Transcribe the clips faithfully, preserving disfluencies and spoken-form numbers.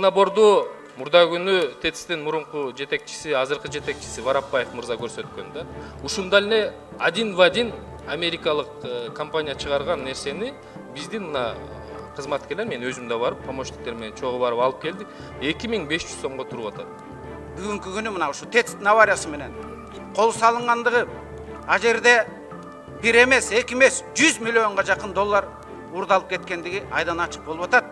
наборду мурда күнү ТЭЦтин мурунку жетекчиси, азыркы жетекчиси Варапбаев мырза көрсөткөн да. Ушундай эле один в один америкалык компания чыгарган нерсени биздин мына кызматкерлер, мен өзүм да барып, помощниктер менен чогуу барып алып келдик. эки миң беш жүз сомго туруп атат. Бүгүнкү күнү мына ушу ТЭЦтин авариясы менен кол салынгандыгы а жерде бир эмес, эки эмес, жүз миллионго жакын доллар урдалып кеткендиги айдан ачык болуп атат.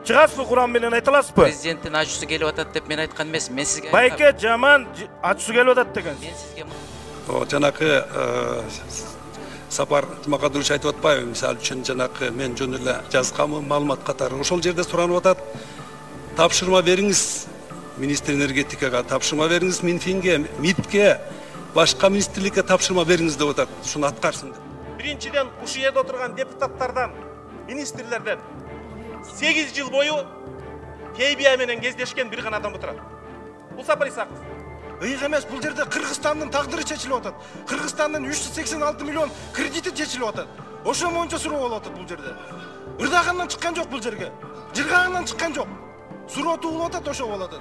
Чыгасыз курам менен айта аласызбы? Президенттин ачуусу келип атат деп мен айткан эмес. Мен сизге Байке жаман ачуусу келип атат деген. Мен сизге жанакы Сапар Жумакадырович айтып атпайбы, мисалы үчүн жанакы мен жөн эле жазганмын, маалымат катары. Ошол жерде суранып атат. Тапшырма бериңиз министр энергетикага, тапшырма бериңиз Минфинге, МИДке, башка министрликке тапшырма бериңиз деп атат. Ушуну аткарсын деп. Биринчиден ушул жерде отурган депутаттардан, министрлерден сегиз жыл бою Кейбия менен кездешкен бир гана адам отурат. Бул Сапар Исаков. Ыйык эмес, бул жерде Кыргызстандын тагдыры чечилип атат. Кыргызстандын үч жүз сексен алты миллион кредити чечилип атат. Ошо боюнча суроо болуп атат бул жерде. Ырдагандан чыккан жок бул жерге. Жыргагандан чыккан жок. Суроо туулуп атат, ошо болуп атат.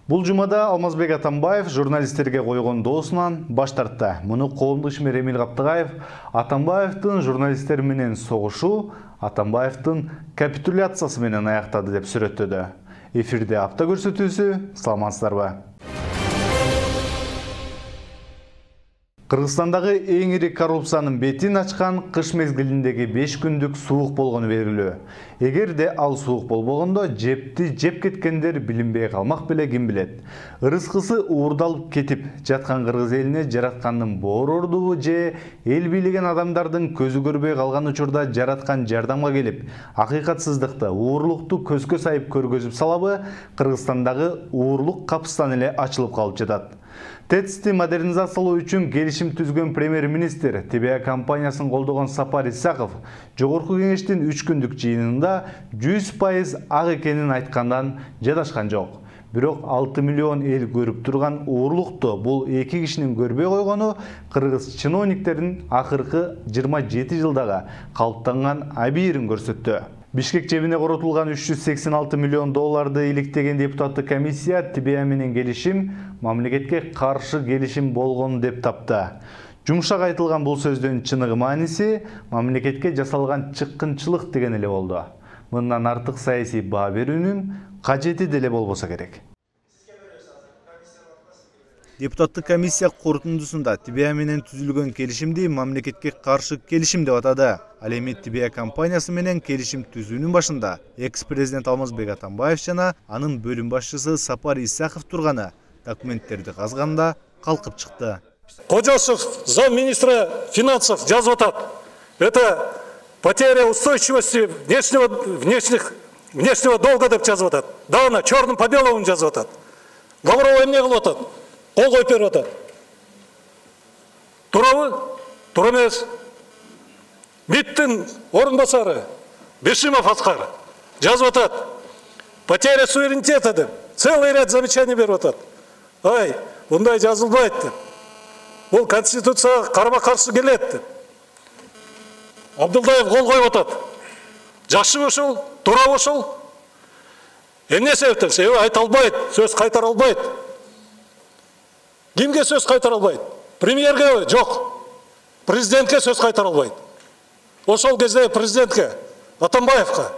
Бул жумада Алмазбек Атамбаев журналисттерге койгон доосунан баш тартты. Муну коомдук ишмер Эмил Каптыгаев Атамбаевдин журналисттер менен согушу Атамбаевдин капитуляциясы менен аяктады деп сүрөттөдү. Эфирде апта көрсөтүүсү, саламатсыздарбы? Кыргызстандагы эң ири коррупциянын бетин ачкан кыш мезгилиндеги беш күндүк суук болгону белгилүү. Эгерде ал суук болбогондо жепти жеп кеткендер билинбей калмак беле ким билет. Ырыскысы уурдалып кетип жаткан кыргыз элине жараткандын боорордубу же эл бийлеген адамдардын көзү көрбөй калган учурда жараткан жардамга келип, акыйкатсыздыкты, уурлукту көзгө сайып көргөзүп салабы, Кыргызстандагы уурлук капыстан эле ачылып калып жатат. ТЭЦти модернизациялоо үчүн келишим түзгөн премьер-министр ТБА компаниясын колдогон Сапар Исаков жогорку кеңештин үч күндүк жыйынында жүз пайыз ак экенин айткандан жадашкан жок. Бирок алты миллион эл көрүп турган уурлукту бул эки кишинин көрбөй койгону кыргыз чиновниктердин акыркы жыйырма жети жылдагы калыптанган абийирин көрсөттү. Бишкек жебине коротулган үч жүз сексен алты миллион долларды иликтеген депутаттык комиссия ТБА менен келишим мамлекетке каршы келишим болгон деп тапты. Жумшак айтылган бул сөздүн чыныгы мааниси мамлекетке жасалган чыккынчылык деген эле болду. Мындан артык саясий баа берүүнүн кажети деле болбосо керек. Депутаттык комиссия корутундусунда ТБА менен түзүлгөн келишимди мамлекетке каршы келишим деп атады. Ал эми ТБА компаниясы менен келишим түзүүнүн башында экс-президент Алмазбек Атамбаев жана анын бөлүм башчысы Сапар Исаков турганы документтерди казганда калкып чыкты. Кожосов, замминистра финансов, жазып атат. Это потеря устойчивости внешнего, внешних, внешнего долга деп жазып атат. Дагы черным по белому жазып атат. Лаврова эмне кылып атат? Кол коюп берип атат. Туурабы? Туура эмес. МИДтин орун басары Бешимов Аскар жазып атат. Потеря суверенитета деп целый ряд замечаний берип атат. Ай, мындай жазылбайт деп. Бул конституцияга карама каршы келет деп. Абдулдаев кол коюп атат. Жакшы ошол, туура ошол. Эмне себептен? Себеби айта албайт, сөз кайтара албайт. Кимге сөз кайтара албайт? Премьерге жок. Президентке сөз кайтара албайт. Ошол кезде президентке, Атамбаевка.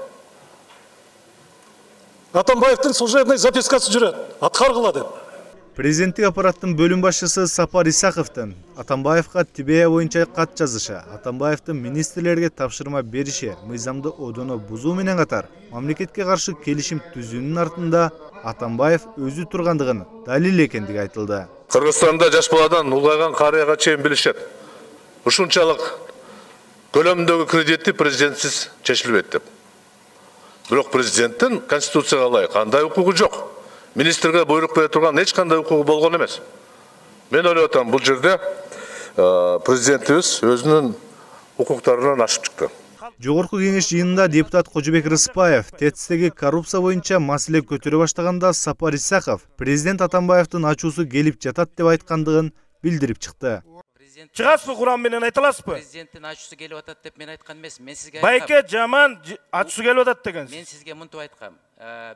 Атамбаевдин служебный запискасы жүрөт, аткаргыла деп. Президенттик аппараттын бөлүм башчысы Сапар Исаковдун Атамбаевка ТБА боюнча кат жазышы, Атамбаевдин министрлерге тапшырма бериши, мыйзамды одоно бузуу менен катар мамлекетке каршы келишим түзүүнүн артында Атамбаев өзү тургандыгын далил экендиги айтылды. Кыргызстанда жаш баладан улгайган карыяга чейин билишет. Ушунчалык көлөмүндөгү кредитти президентсиз чечилбейт деп. Бирок президенттин конституцияга ылайык кандай укугу жок. Министрге буйрук бере турган эч кандай укугу болгон эмес. Мен ойлоп атам, бул жерде президентибиз өзүнүн укуктарынан ашып чыкты. Жогорку кеңеш жыйынында депутат Кожобек Рыспаев ТЭЦтеги коррупция боюнча маселе көтөрө баштаганда Сапар Исаков президент Атамбаевдин ачуусу келип жатат деп айткандыгын билдирип чыкты. чыгасызбы Куран менен айта аласызбы? Президенттин ачуусу келип атат деп мен айткан эмесмин. Мен сизге Байке жаман ачуусу келип атат дегенсиз. Мен сизге мынтип айткам.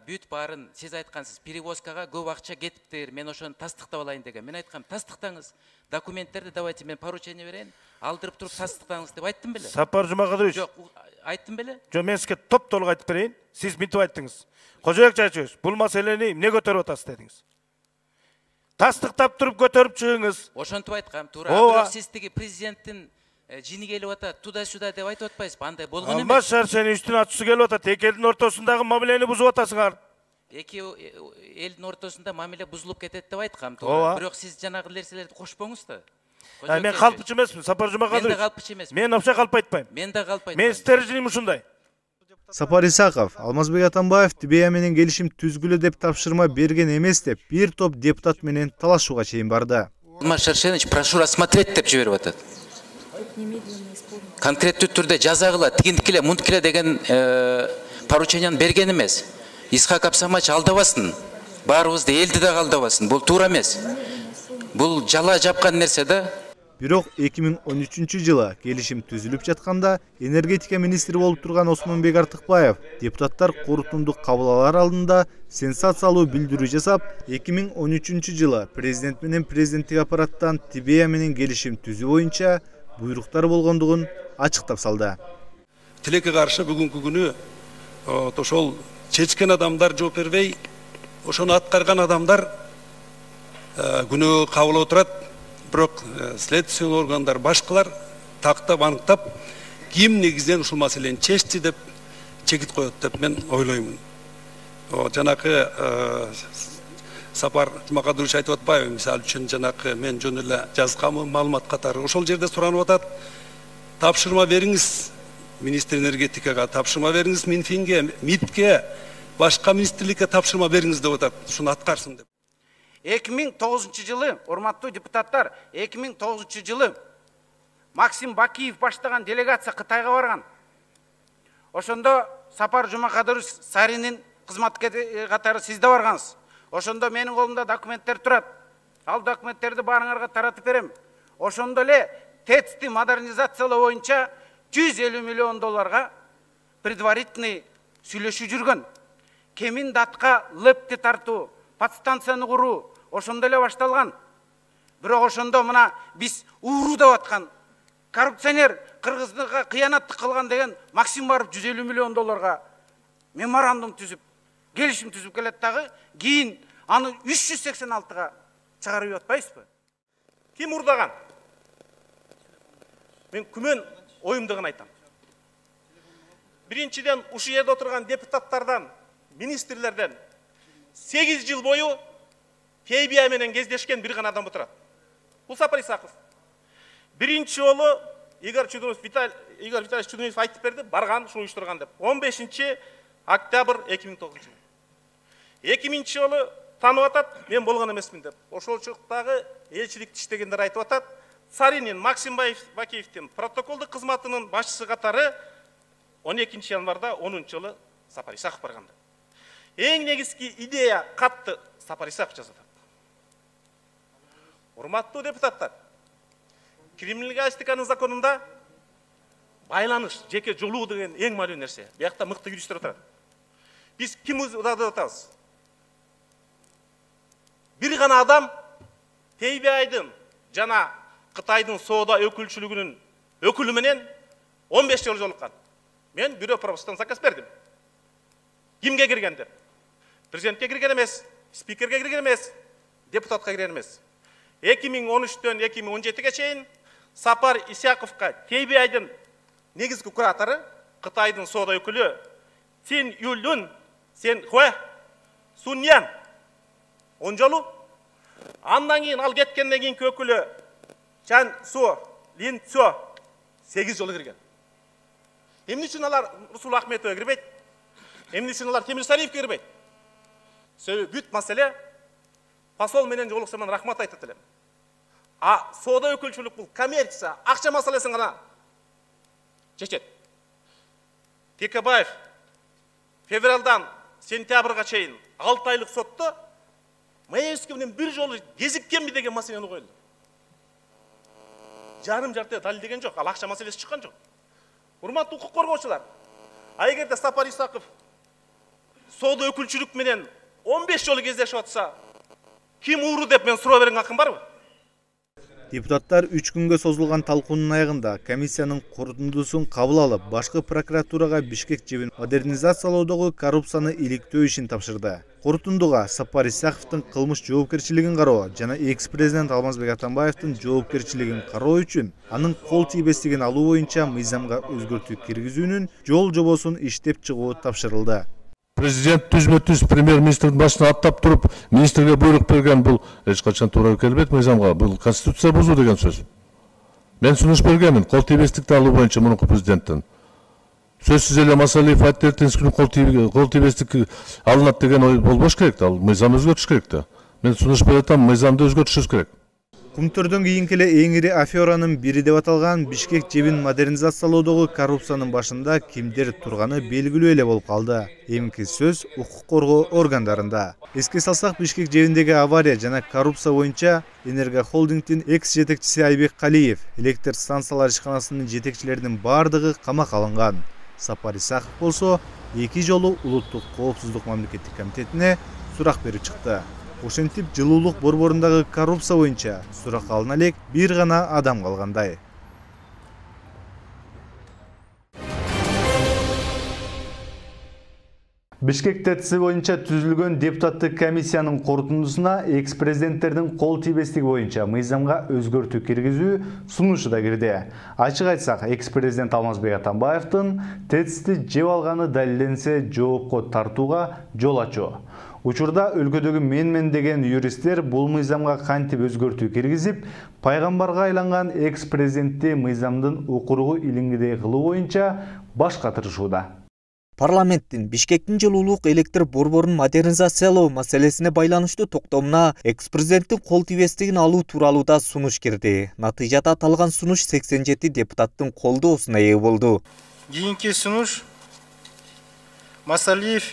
Бүт баарын сиз айткансыз. Перевозкага көп акча кетиптир. Мен ошону тастыктап алайын деген. Мен айткам, тастыктаңыз. Документтерди давайте мен поручение берейин. Алдырып туруп тастыктаңыз деп айттым беле? Сапар Жумакадырович. Жок, айттым беле? Жок, мен сизге топ-толук айтып берейин. Сиз мынтип айттыңыз. Кожоек Чачыбек, бул маселени эмне көтөрүп атасыз дедиңиз. Тастыктап туруп көтөрүп чыгыңыз. Ошентип айткам, туура. Бирок сиз тиги президенттин жини келип атат, туда-сюда деп айтып атпайсызбы? Андай болгон эмес. Алмаз Шаршеновичтин ачуусу келип атат. Эки элдин ортосундагы мамилени бузуп атасыңар. Эки элдин ортосунда мамиле бузулуп кетет деп айткам, туура. Бирок сиз жанагы нерселерди кошпоңуз да. Мен калпчы эмесмин, Сапар Жумакадырович. Мен да калпчы эмесмин. Мен вообще калп айтпайм. Мен да калп айтпайм. Мен стерженим ушундай. Сапар Исаков Алмазбек Атамбаев Тибея менен келишим түзгүлө деп тапшырма берген эмес деп бир топ депутат менен талашууга чейин барды. Алмаз Шаршенович прошу рассмотреть деп жиберип атат. Конкреттүү түрдө жазагыла, тигиндикиле, мунткиле деген порученияны берген эмес. Исхак Абсамач алдабасын. Баарыбызды элди да алдабасын. Бул туура эмес. Бул жала жапкан нерсе да. Бирок эки миң он үчүнчү жылы келишим түзүлүп жатканда энергетика министри болуп турган Осмонбек Артыкбаев депутаттар корутундук кабыл алар алдында сенсациялуу билдирүү жасап, эки миң он үчүнчү жылы президент менен президенттик аппараттан Тибея менен келишим түзүү боюнча буйруктар болгондугун ачыктап салды. Тилекке каршы бүгүнкү күнү ошол чечкен адамдар жооп бербей, ошону аткарган адамдар күнөө кабыл отурат. Бирок следственный органдар башкалар тактап аныктап, ким негизинен ушул маселени чечти деп чекит коет деп мен ойлоймун. Жанакы Сапар Жумакадырович айтып атпайбы, мисалы үчүн жанакы мен жөн эле жазганмын маалымат катары. Ошол жерде суранып атат. Тапшырма бериңиз министр энергетикага, тапшырма бериңиз Минфинге, МИДке, башка министрликке тапшырма бериңиз деп атат. Ушуну аткарсын деп. эки миң тогузунчу жылы, урматтуу депутаттар, эки миң тогузунчу жылы Максим Бакиев баштаган делегация Кытайга барган. Ошондо Сапар Жумакадырович Саринин кызматкери катары сиз да баргансыз. Ошондо менин колумда документтер турат. Ал документтерди баарыңарга таратып берем. Ошондо эле ТЭЦти модернизациялоо боюнча жүз элүү миллион долларга предварительный сүйлөшүү жүргөн. Кемин датка лепти тартуу, подстанцияны куруу ошондо эле башталган. Бирок ошондо мына биз ууруу деп аткан коррупционер кыргызга кыянаттык кылган деген Максим барып жүз элүү миллион долларга меморандум түзүп, келишим түзүп келет дагы, кийин аны үч жүз сексен алтыга чыгарып атпайсызбы? Ким урдаган? Мен күмөн оюмду гана айтам. Биринчиден ушул жерде отурган депутаттардан, министрлерден сегиз жыл бою Тибея менен кездешкен бир гана адам отурат. Бул Сапар Исаков. Биринчи жолу Игорь Чудунов, Виталий Игорь Витальевич Чудунов айтып берди, барган, ушуну уюштурган деп. он бешинчи октябрь эки миң тогузунчу жыл. эки миңинчи жолу таанып атат, мен болгон эмесмин деп. Ошол чактагы элчиликти иштегендер айтып атат. Саринин Максим Бакиевдин протоколдук кызматынын башчысы катары он экинчи январда онунчу жылы Сапар Исаков барган деп. Эң негизги идея катты Сапар Исаков жазат. Урматтуу депутаттар, криминалистиканын законунда байланыш, жеке жолуу деген эң маанилүү нерсе. Биякта мыкты юристтер отурат. Биз ким удады деп атабыз? Бир гана адам Тибеядын жана Кытайдын соода өкүлчүлүгүнүн өкүлү менен он беш жолу жолуккан. Мен бирөө пропустан заказ бердим. Кимге кирген деп? Президентке кирген эмес, спикерге кирген эмес, депутатка кирген эмес. эки миң он үчтөн эки миң он жетиге чейин Сапар Исаковго Тибеядын негизги куратору, Кытайдын соода өкүлү Цин Юлюн Сен Хуэ Суньян он жолу, андан кийин ал кеткенден кийинки өкүлү Чан Су Лин Цо сегиз жолу кирген. Эмне үчүн алар Русул Ахметовго кирбейт? Эмне үчүн алар Темир Сариевге кирбейт? Себеби бүт маселе посол менен жолуксам мен рахмат айтат элем. А соода өкүлчүлүк бул коммерция, акча маселесин гана чечет. Текебаев февралдан сентябрга чейин алты айлык сотто Маевский менен бир жолу кезиккенби деген маселени коюлду. жарым жарты далилдеген жок, ал акча маселеси чыккан жок. Урматтуу укук коргоочулар, а эгерде Сапар Исаков соода өкүлчүлүк менен он беш жолу кездешип атса, ким ууру деп мен суроо берген акым барбы? Депутаттар үч күнгө созулган талкуунун аягында комиссиянын корутундусун кабыл алып, башкы прокуратурага Бишкек жебин модернизациялоодогу коррупцияны иликтөө ишин тапшырды. Корутундуга Сапар Исаковдун кылмыш жоопкерчилигин кароо жана экс-президент Алмазбек Атамбаевдин жоопкерчилигин кароо үчүн анын кол тийбестигин алуу боюнча мыйзамга өзгөртүү киргизүүнүн жол жобосун иштеп чыгуу тапшырылды. Президент түзмө-түз премьер-министрдин башына аттап туруп, министрге буйрук берген бул эч качан туура келбейт мыйзамга. Бул конституция бузуу деген сөз. Мен сунуш бергенмин кол тийбестикти алуу боюнча мурунку президенттен. Сөзсүз эле Масалиев Айттердин кол тийбестик алынат деген ой болбош керек да. Ал мыйзам өзгөртүш керек да. Мен сунуш берип атам, мыйзамды өзгөртүшүбүз керек. Кумтөрдөн кийинки эле эң ири аферанын бири деп аталган Бишкек жебин модернизациялоодогу коррупциянын башында кимдер турганы белгилүү эле болуп калды. Эмки сөз укук коргоо органдарында. Эске салсак, Бишкек жебиндеги авария жана коррупция боюнча Энерго холдингдин экс жетекчиси Айбек Калиев, электр станциялар ишканасынын жетекчилеринин бардыгы камакка алынган. Сапар Исаков болсо эки жолу улуттук коопсуздук мамлекеттик комитетине сурак берип чыкты. Ошентип жылуулук борборундагы коррупция боюнча сурак алына элек бир гана адам калгандай. Бишкек ТЭЦ боюнча түзүлгөн депутаттык комиссиянын корутундусуна экс-президенттердин кол тийбестиги боюнча мыйзамга өзгөртүү киргизүү сунушу да кирди. Ачык айтсак, экс-президент Алмазбек Атамбаевдин ТЭЦти жеп алганы далилденсе жоопко тартууга жол ачуу. Учурда өлкөдөгү менмен деген юристтер бул мыйзамга кантип өзгөртүү киргизип, пайгамбарга айланган экс-президентти мыйзамдын укуругу илингидей кылуу боюнча баш катырышууда. Парламенттин Бишкектин жылуулук электр борборун модернизациялоо маселесине байланыштуу токтомуна экс-президенттин кол тийбестигин алуу тууралуу да сунуш кирди. Натыйжада аталган сунуш сексен жети депутаттын колдоосуна ээ болду. Кийинки сунуш Масалиев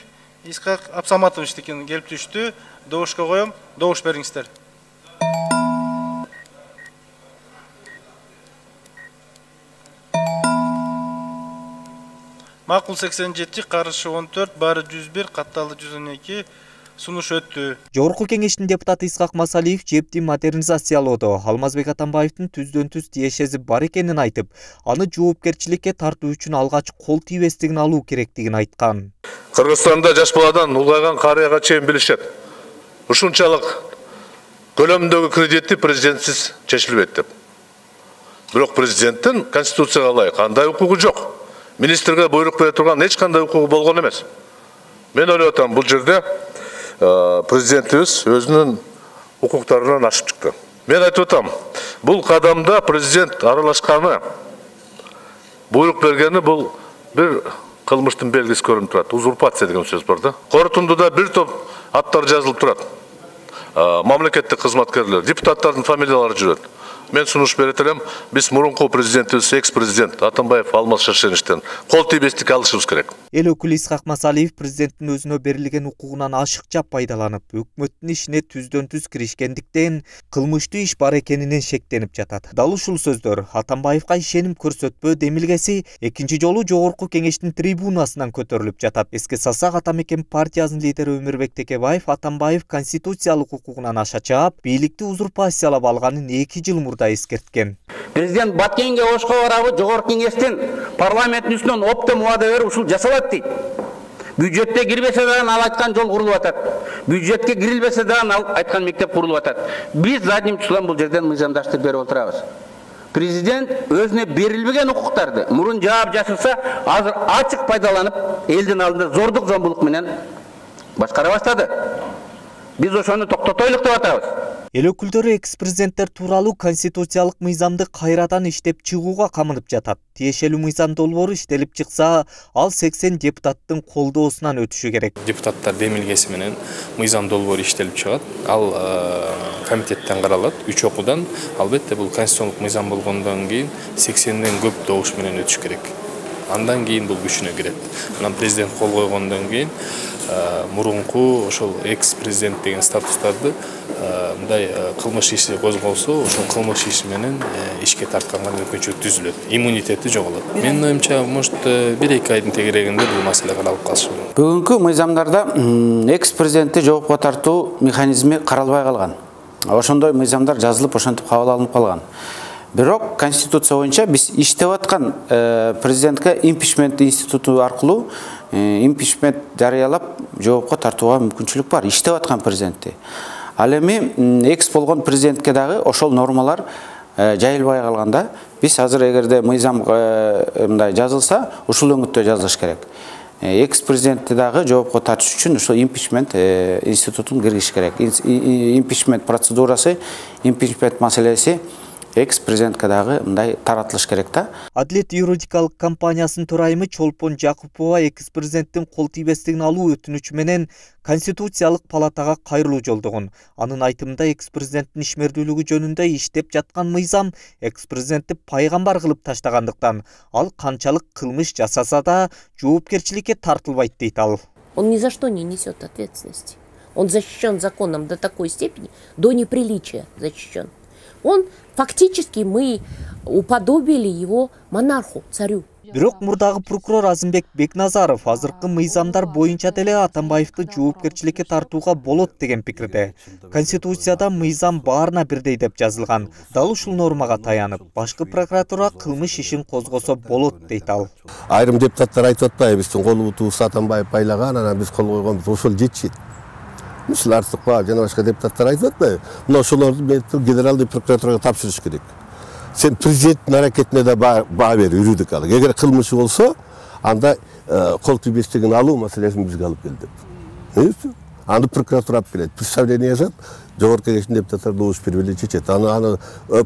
Исхак Абсаматовичтикин келип түштү. Добушка коем, добуш бериңиздер. Макул сексен жети, каршы он төрт, баары жүз бир, катталды жүз он эки сунуш өттү. Жогорку кеңештин депутаты Исхак Масалиев жепти модернизациялоодо Алмазбек Атамбаевдин түздөн-түз тиешеси бар экенин айтып, аны жоопкерчиликке тартуу үчүн алгач кол тийбестигин алуу керектигин айткан. Кыргызстанда жаш баладан улгайган карыяга чейин билишет. Ушунчалык көлөмдөгү кредитти президентсиз чечилбейт деп. Бирок президенттин конституцияга ылайык кандай укугу жок. Министрге буйрук бере турган эч кандай укугу болгон эмес. Мен ойлоп атам, бул жерде президентибиз өзүнүн укуктарынан ашып чыкты. Мен айтып атам, бул кадамда президент аралашканы, буйрук бергени бул бир кылмыштын белгиси көрүнүп турат. Узурпация деген сөз бар да. Корутундуда бир топ аттар жазылып турат. Мамлекеттик кызматкерлер, депутаттардын фамилиялары жүрөт. Мен сунуш берет элем, биз мурунку президентибиз, экс-президент Атамбаев Алмаз Шаршеновичтен кол тийбестик алышыбыз керек. Эл өкүлү Исхак Масалиев президенттин өзүнө берилген укугунан ашыкча пайдаланып, өкмөттүн ишине түздөн-түз киришкендиктен кылмыштуу иш бар экенинен шектенип жатат. Дал ушул сөздөр Атамбаевга ишеним көрсөтпөө демилгеси экинчи жолу жогорку кеңештин трибунасынан көтөрүлүп жатат. Эске салсак, Атамекен партиясынын лидери Өмүрбек Текебаев Атамбаев конституциялык укугунан аша чаап, бийликти узурпациялап алганын эки жыл мурда эскерткен. Президент Баткенге ошко барабы, жогорку кеңештин парламенттин үстүнөн оптом убада берип ушул жасалат дейт. Бюджетте кирбесе дагы ал айткан жол курулуп атат. Бюджетке кирилбесе дагы ал айткан мектеп курулуп атат. Биз задним числом бул жерден мыйзамдаштырып берип отурабыз. Президент өзүнө берилбеген укуктарды мурун жаап жасырса, азыр ачык пайдаланып, элдин алдында зордук зомбулук менен башкара баштады. Биз ошону токтотойлук деп атабыз. Эл өкүлдөрү экс-президенттер тууралуу конституциялык мыйзамды кайрадан иштеп чыгууга камынып жатат. Тиешелүү мыйзам долбоору иштелип чыкса, ал сексен депутаттын колдоосунан өтүшү керек. Депутаттар демилгеси менен мыйзам долбоору иштелип чыгат. Ал комитеттен каралат, үч окуудан. Албетте бул конституциялык мыйзам болгондон кийин сексенден көп добуш менен өтүш керек. Андан кийин бул күчүнө кирет. Анан президент кол койгондон кийин мурунку ошол экс-президент деген статустарды мындай кылмыш иши козголсо, ошол кылмыш иши менен ишке тартканга мүмкүнчүлүк түзүлөт, иммунитети жоголот. Менин оюмча, может, бир эки айдын тегерегинде бул маселе каралып калышы мүмкүн. Бүгүнкү мыйзамдарда экс президентти жоопко тартуу механизми каралбай калган. Ошондой мыйзамдар жазылып, ошентип кабыл алынып калган. Бирок Конституция боюнча биз иштеп аткан президентке импичмент институту аркылуу импичмент жарыялап жоопко тартууга мүмкүнчүлүк бар. Иштеп аткан президентти. Ал эми экс болгон президентке дагы ошол нормалар жайылбай калганда, биз азыр эгерде мыйзам мындай жазылса, ушул өңүттө жазылыш керек. Экс президентти дагы жоопко тартыш үчүн ошол импичмент институтун киргизиш керек. Импичмент процедурасы, импичмент маселеси экс президентке дагы мындай таратылыш керек да. Адилет юридикалык компаниясынын төрайымы Чолпон Жакупова экс президенттин кол тийбестигин алуу өтүнүчү менен Конституциялык палатага кайрылуу жолдогон. Анын айтымында экс президенттин ишмердүүлүгү жөнүндө иштеп жаткан мыйзам экс президентти пайгамбар кылып таштагандыктан ал канчалык кылмыш жасаса да жоопкерчиликке тартылбайт дейт ал. Он ни за что не несет ответственности. Он защищен законом до такой степени, до неприличия защищен. Он фактически мы уподобили его монарху, царю. Бирок мурдагы прокурор Азымбек Бекназаров азыркы мыйзамдар боюнча деле Атамбаевди жоопкерчиликке тартууга болот деген пикирде. Конституцияда мыйзам баарына бирдей деп жазылган. Дал ушул нормага таянып, башкы прокуратура кылмыш ишин козгосо болот дейт ал. Айрым депутаттар айтып атпайбы, биздин колубутубуз Атамбаев пайлаган, анан биз кол койгонбуз, ошол жетишет. Мисыл Артыкбаев жана башка депутаттар айтып атпайбы? Мына ошолорду генералдык прокуратурага тапшырыш керек. Сен президенттин аракетине да баа бер, юридикалык. Эгер кылмышы болсо, анда кол тийбестигин алуу маселесин бизге алып келди. Аны прокуратура алып келет. Представление жазат, жогорку кеңештин депутаттары добуш бербей чечет. Аны аны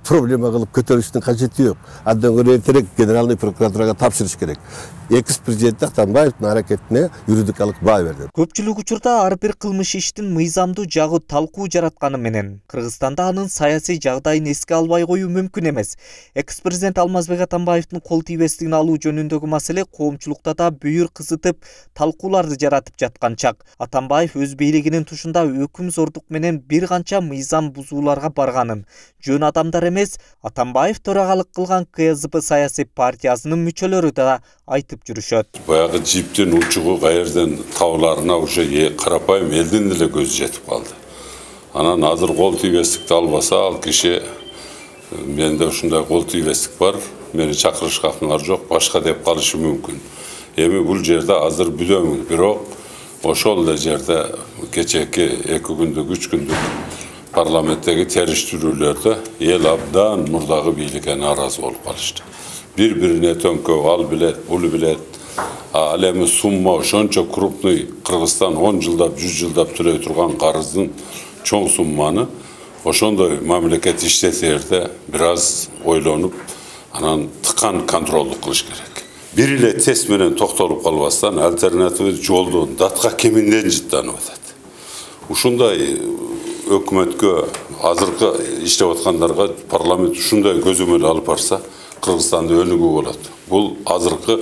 проблема кылып көтөрүштүн кажети жок. Андан көрө эртерээк генералдык прокуратурага тапшырыш керек. Экс президент Атамбаевдин аракетине юридикалык баа берди. Көпчүлүк учурда ар бир кылмыш иштин мыйзамдуу жагы талкуу жаратканы менен Кыргызстанда анын саясий жагдайын эске албай коюу мүмкүн эмес. Экс президент Алмазбек Атамбаевдин кол тийбестигин алуу жөнүндөгү маселе коомчулукта да бүйүр кызытып, талкууларды жаратып жаткан чак. Атамбаев өз бийлигинин тушунда өкүм зордук менен бир канча мыйзам бузууларга барганын, жөн адамдар эмес, Атамбаев төрагалык кылган К З П саясий партиясынын мүчөлөрү да айтып жүрүшөт. Баягы жиптин учугу каерден табыларына уже карапайым элдин деле көзү жетип калды. Анан азыр кол тийбестикти албаса, ал киши менде ушундай кол тийбестик бар, мени чакырышка акыңар жок, башка деп калышы мүмкүн. Эми бул жерде азыр билем, бирок ошол эле жерде кечээки эки күндүк, үч күндүк парламенттеги териштирүүлөрдө эл абдан мурдагы бийликке нааразы болуп калышты. Бири-бирине төңкөп, ал билет, бул билет. Ал эми сумма ошончо крупный, Кыргызстан он жылдап, жүз жылдап төлөй турган карыздын чоң сумманы ошондой мамлекет иштетерде бир аз ойлонуп, анан тыкан контролдук кылыш керек. Бир эле тест менен токтолуп калбастан альтернативдүү жолдон датка кеминден жыттанып атат. Ушундай өкмөткө, азыркы иштеп аткандарга парламент ушундай көзөмөл алып барса, Кыргызстанда өнүгүү болот. Бул азыркы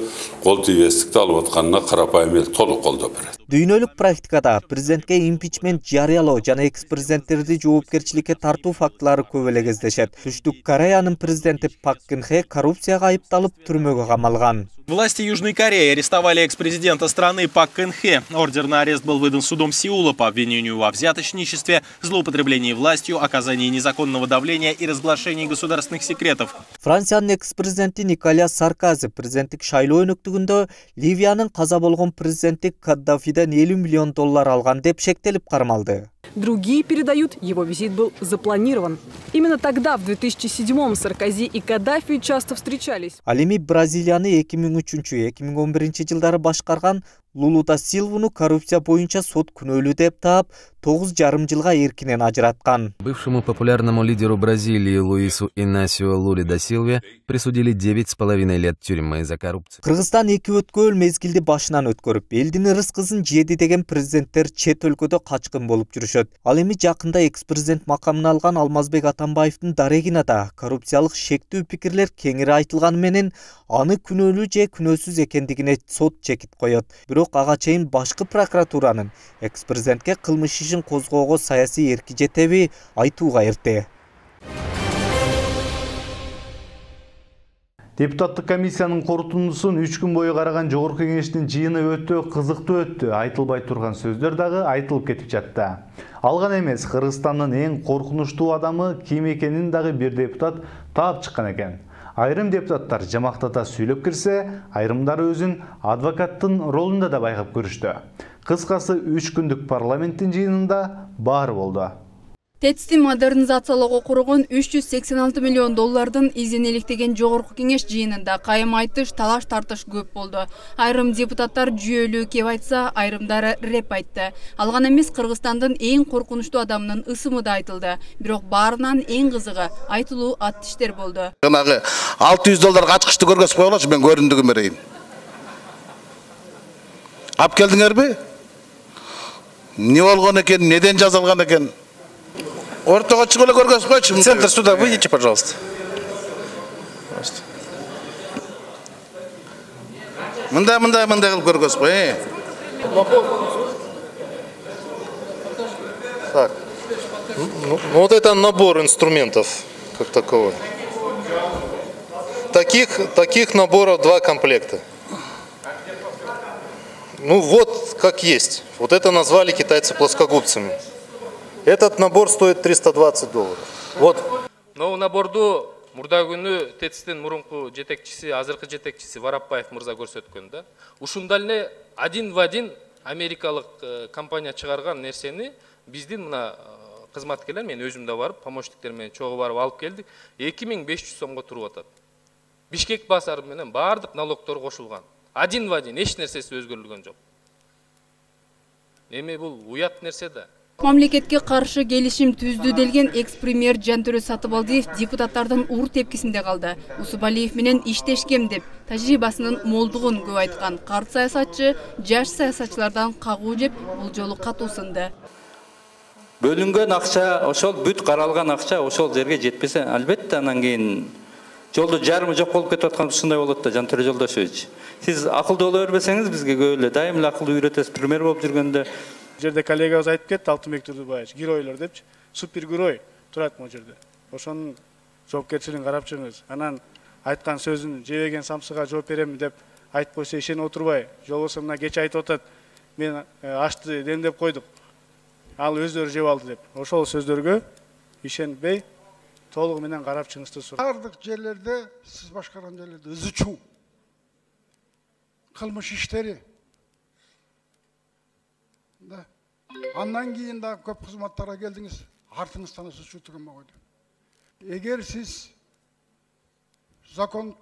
кол тийбестикти алып атканына карапайым эл толук колдоп берет. Дүйнөлүк практикада президентке импичмент жарыялоо жана экс президенттерди жоопкерчиликке тартуу фактылары көп эле кездешет. Түштүк Кореянын президенти Пак Кын Хе коррупцияга айыпталып түрмөгө камалган. Власти Южной Кореи арестовали экс-президента страны Пак Кын Хе. Ордер на арест был выдан судом Сеула по обвинению во взяточничестве, злоупотреблении властью, оказании незаконного давления и разглашении государственных секретов. Франциянын экс-президенти Николя Саркози президенттик шайлоо өнөктүгүндө Ливиянын каза болгон президенти Каддафиден элүү миллион доллар алган деп шектелип кармалды. Другие передают, его визит был запланирован. Именно тогда, в две тысячи седьмом, Саркози и Каддафи часто встречались. Ал эми Бразилияны эки миң үчүнчү эки миң он биринчи жылдары башкарган Лулу да Силвуну коррупция боюнча сот күнөөлүү деп таап, тогуз жарым жылга эркинен ажыраткан. Бывшему популярному лидеру Бразилии Луису Инасио Луле да Силве присудили девять с половиной лет тюрьмы за коррупцию. Кыргызстан эки өткөл мезгилди башынан өткөрүп, элдин ырыс-кызын жеди деген президенттер чет өлкөдө качкын болуп жүрүшөт. Ал эми жакында экс-президент макамын алган Алмазбек Атамбаевдин дарегине да коррупциялык шектүү пикирлер кеңири айтылганы менен аны күнөөлүү же күнөөсүз экендигине сот чекит коет. Бирок бирок ага чейин башкы прокуратуранын экс-президентке кылмыш ишин козгоого саясий эрки жетеби айтууга эрте. Депутаттык комиссиянын корутундусун үч күн бою караган жогорку кеңештин жыйыны өтө кызыктуу өттү. Айтылбай турган сөздөр дагы айтылып кетип жатты. Алган эмес, Кыргызстандын эң коркунучтуу адамы ким экенин дагы бир депутат таап чыккан экен. Айрым депутаттар жамактата сүйлөп кирсе, айрымдары өзүн адвокаттын ролунда да байкап көрүштү. Кыскасы үч күндүк парламенттин жыйынында баары болду. ТЭЦти модернизациялоого кургон үч жүз сексен алты миллион доллардын изин иликтеген жогорку кеңеш жыйынында кайым айтыш, талаш тартыш көп болду. Айрым депутаттар жүйөлүү кеп айтса, айрымдары реп айтты. Алган эмес, Кыргызстандын эң коркунучтуу адамынын ысымы да айтылды. Бирок баарынан эң кызыгы айтылуу ат тиштер болду. Жанагы алты жүз долларга ачкычты көргөзүп койгулачы, мен көрүндүгүн берейин. Ап келдиңерби? Не болгон экен, неден жазылган экен? Ортого чыгып эле көргөзүп койчу. Центр суда выйдите, пожалуйста. Мындай, мындай, мындай кылып көргөзүп кой, э. Так. Ну, вот это набор инструментов как таковой. Таких, таких наборов два комплекта. Ну вот как есть. Вот это назвали китайцы плоскогубцами. Этот набор стоит триста двадцать долларов. Вот. Но наборду мурда күнү ТЭЦтин мурунку жетекчиси, азыркы жетекчиси Варапбаев мырза көрсөткөн да. Ушундай эле один в один америкалык компания чыгарган нерсени биздин мына кызматкерлер, мен өзүм да барып, помощниктер менен чогуу барып алып келдик. эки миң беш жүз сомго туруп атат. Бишкек базары менен баардык налогдор кошулган. Один в один, эч нерсеси өзгөрүлгөн жок. Эми бул уят нерсе да. Мамлекетке каршы келишим түздү делген экс-премьер Жантөрө Сатыбалдиев депутаттардын уур тепкисинде калды. Усубалиев менен иштешкем деп тажрыйбасынын молдугун көп айткан карт саясатчы жаш саясатчылардан кагуу жеп бул жолу катуу сынды. Бөлүнгөн акча, ошол бүт каралган акча ошол жерге жетпесе, албетте анан кийин жолду жарымы жок болуп кетип аткан ушундай болот да, Жантөрө Жолдошевич. Сиз акылдуу боло бербесеңиз бизге көп эле дайым эле акылдуу үйрөтөсүз, премьер болуп жүргөндө. Жерде коллегабыз айтып кетти, Алтынбек Турдубаевич, геройлор депчи, супер герой турат могу жерде. Ошонун жоопкерчилигин карап чыгыңыз. Анан айткан сөзүн жебеген самсыга жооп берем деп айтып койсо ишенип отурбай, жолбосо мына кече айтып атат, мен ашты демдеп койдук. Ал өздөрү жеп алды деп. Ошол сөздөргө ишенбей, толугу менен карап чыгыңызды сурайм. Бардык жерлерде, сиз башкарган жерлерде ызычуу кылмыш иштери. Да. Андан кийин да көп кызматтарга келдиңиз, артыңыздан ызычуу турган койду. Эгер сиз закон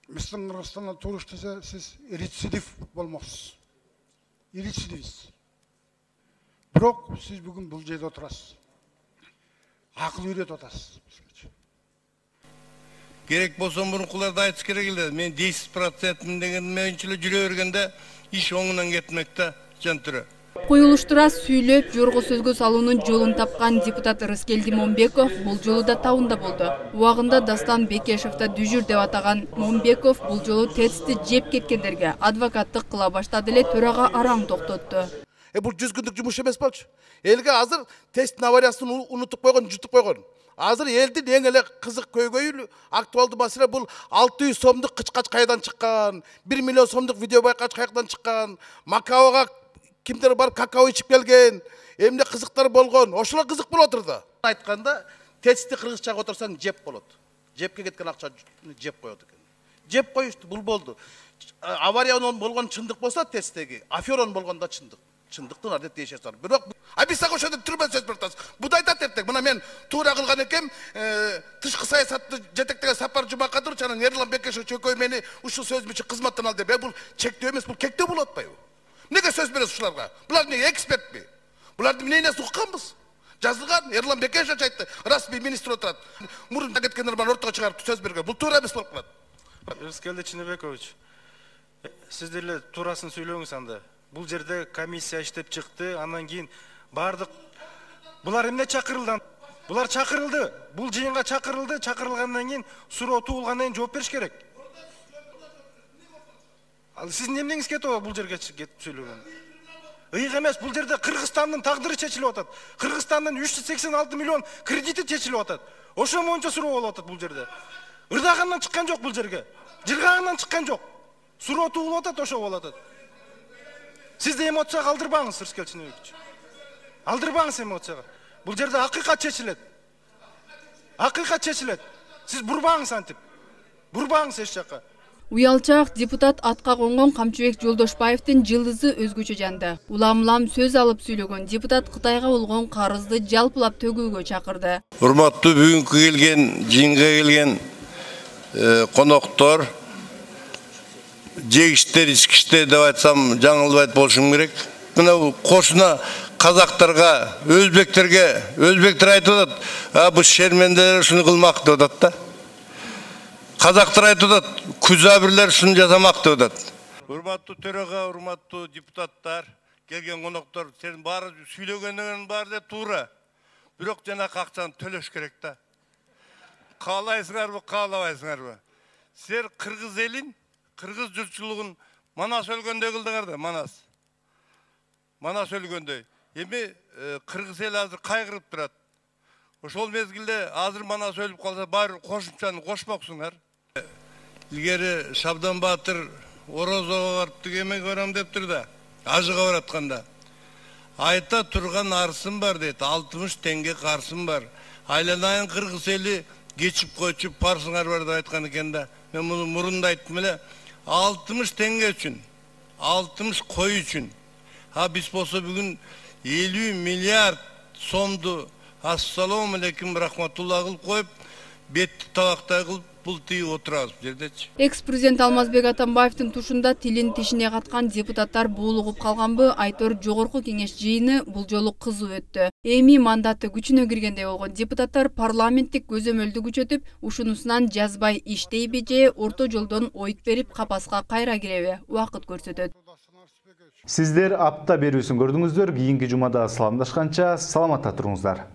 биздин Кыргызстанда туруш десе, сиз рецидив болмоксуз. Рецидивист. Бирок сиз бүгүн бул жерде отурасыз. Акыл үйрөтүп атасыз. Керек болсо мурункуларды айтыш керек эле. Мен десять процент деген менчиле жүрө бергенде иш оңунан кетмекте, Жантөрө. Коюлуштура сүйлөп, жорго сөзгө салуунун жолун тапкан депутат Рыскелди Момбеков бул жолу да тауында болду. Убагында Дастан Бекешевди дүжүр деп атаган Момбеков бул жолу ТЭЦти жеп кеткендерге адвокаттык кыла баштады эле, төрага араң токтотту. Э бул жүз күндүк жумуш эмес болчу. Элге азыр ТЭЦтин авариясын унутуп койгон, жутуп койгон. Азыр элдин эң эле кызык көйгөйү, актуалдуу маселе бул алты жүз сомдук кычкач кайдан чыккан, бир миллион сомдук видео байкач кайдан чыккан, Макаога кимдер барып какао ичип келген, эмне кызыктар болгон, ошолор кызык болуп отурду. Айтканда, ТЭЦти кыргызчага отурсаң жеп болот. Жепке кеткен акча жеп коет экен. Жеп коюшту, бул болду. Авария болгон чындык болсо ТЭЦтеги, афера болгондо чындык. Чындыктын адет дешесар. Бирок, а биз сага ошондо түрмө сөз берип атабыз. Буду айтат эптек. Мына мен туура кылган экем, тышкы саясатты жетектеген Сапар Жумакадырович анан Эрлан Бекешев чөкөй мени ушул сөз үчүн кызматтан ал деп. Бул чектөө эмес, бул кектөө болуп атпайбы? Неге сөз бересиз ушуларга? Булар эмне экспертпи? Буларды эмнени укканбыз? Жазылган, Эрлан Бекешев айтты. Расмий министр отурат. Мурунда кеткендер бар ортого чыгарып сөз берген. Бул туура эмес болуп калат. Рыскелди Чинебекович, сиз деле туурасын сүйлөңүз анда. Бул жерде комиссия иштеп чыкты, андан кийин бардык булар эмне чакырылды? Булар чакырылды. Бул жыйынга чакырылды, чакырылгандан кийин суроо туулгандан кийин жооп бериш керек. Ал сиздин эмнеңиз кетип атат бул жерге кетип сүйлөгөн? Ыйык эмес, бул жерде Кыргызстандын тагдыры чечилип атат. Кыргызстандын үч жүз сексен алты миллион кредити чечилип атат. Ошо боюнча суроо болуп атат бул жерде. Ырдагандан чыккан жок бул жерге. Жыргагандан чыккан жок. Суроо туулуп атат, ошо болуп атат. Сизди эмоцияга алдырбаңыз, Рыскел Чыныбекович. Алдырбаңыз эмоцияга. Бул жерде акыйкат чечилет. Акыйкат чечилет. Сиз бурбаңыз антип. Бурбаңыз эч жакка. Уялчак депутат атка конгон Камчыбек Жолдошбаевдин жылдызы өзгөчө жанды. Улам-улам сөз алып сүйлөгөн депутат Кытайга болгон карызды жалпылап төгүүгө чакырды. Урматтуу бүгүнкү келген, жыйынга келген коноктор, жегиштер, ичкиштер деп айтсам жаңылбайт болушум керек. Мына кошуна казактарга, өзбектерге, өзбектер айтып атат, а бул шермендер ушуну кылмак деп атат да. Казактар айтып атат, күзабирлер ушуну жасамак деп атат. Урматтуу төрага, урматтуу депутаттар, келген коноктор, сен баары сүйлөгөнүңүн баары да туура. Бирок жана акчаны төлөш керек да. Каалайсыңарбы, каалабайсыңарбы? Сер кыргыз элин, кыргыз журтчулугун Манас өлгөндөй кылдыңар да, Манас. Манас өлгөндөй. Эми кыргыз эл азыр кайгырып турат. Ошол мезгилде азыр Манас өлүп калса, баары кошумчаны кошмоксуңар. Илгери Шабдан Баатыр Орозого барып тигеме көрөм дептир да, ажыга баратканда. Айта турган арсым бар дейт, алтымыш теңге карсым бар. Айланайын кыргыз эли кечип койчу парсыңар бар деп айткан экен да. Мен муну мурунда айттым эле, алтымыш теңге үчүн, алтымыш кой үчүн. А биз болсо бүгүн элүү миллиард сомду ассалому алейкум рахматулла кылып коюп, бетти табактай кылып бул тиіп отырабыз бул жердечи. Экс-президент Алмазбек Атамбаевдин тушунда тилин тишине каткан депутаттар буулугуп калганбы, Айтор жогорку кеңеш жыйыны бул жолу кызуу өттү. Эми мандаты күчүнө киргендей болгон депутаттар парламенттик көзөмөлдү күчөтүп, ушунусунан жазбай иштейби же орто жолдон ойт берип капаска кайра киреби, убакыт көрсөтөт. Сиздер апта берүүсүн көрдүңүздөр. Кийинки жумада саламдашканча саламатта туруңуздар.